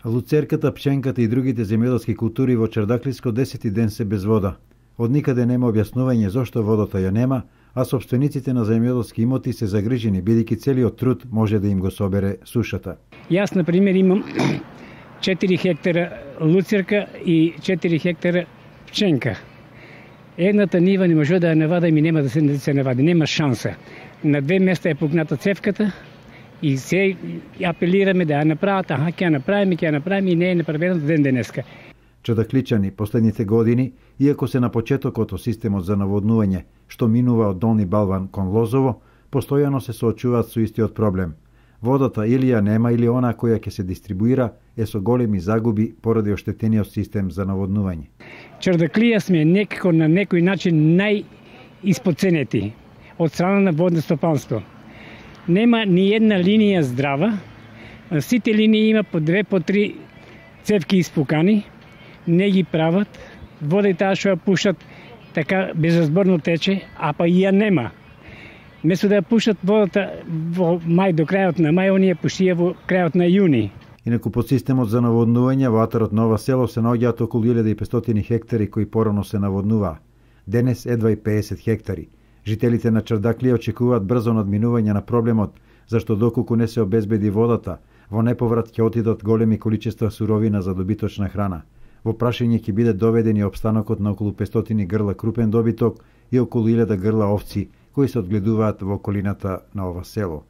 Луцерката, пченката и другите земјоделски култури во Чардаклиско 10 ден се без вода. Од никаде нема објаснување зошто водата ја нема, а собствениците на земјоделски имоти се загрижени бидејќи целиот труд може да им го собере сушата. Јас, на пример, имам 4 хектара луцерка и 4 хектара пченка. Едната нива не може да ја навадам и нема да се навади, нема шанса. На 2 места е пукната цевката и се апелираме да ја направат, ќе ја направиме и не е направено ден денеска. Чардакличани последните години, иако се на почетокот од системот за наводнување, што минува од Долни Балван кон Лозово, постојано се соочуваат со истиот проблем. Водата или ја нема или она која ќе се дистрибуира е со големи загуби поради оштетениот систем за наводнување. Чардаклија сме некако на некој начин најиспоценети од страна на водно стопанство. Нема ни една линија здрава, сите линии има по 2, по 3 цевки испукани, не ги прават, вода и таа што ја пушат така безразборно тече, а па и ја нема. Место да ја пушат водата во мај до крајот на мај, оние пушија во крајот на јуни. Инаку под системот за наводнување во атарот Нова село се наоѓаат околу 1500 хектари кои порано се наводнуваа. Денес едва и 50 хектари. Жителите на Чардаклија очекуваат брзо надминување на проблемот, зашто доколку не се обезбеди водата, во неповрат ќе отидат големи количества суровина за добиточна храна. Во прашање ќе биде доведен и опстанокот на околу 500 грла крупен добиток и околу 1000 грла овци кои се одгледуваат во околината на ова село.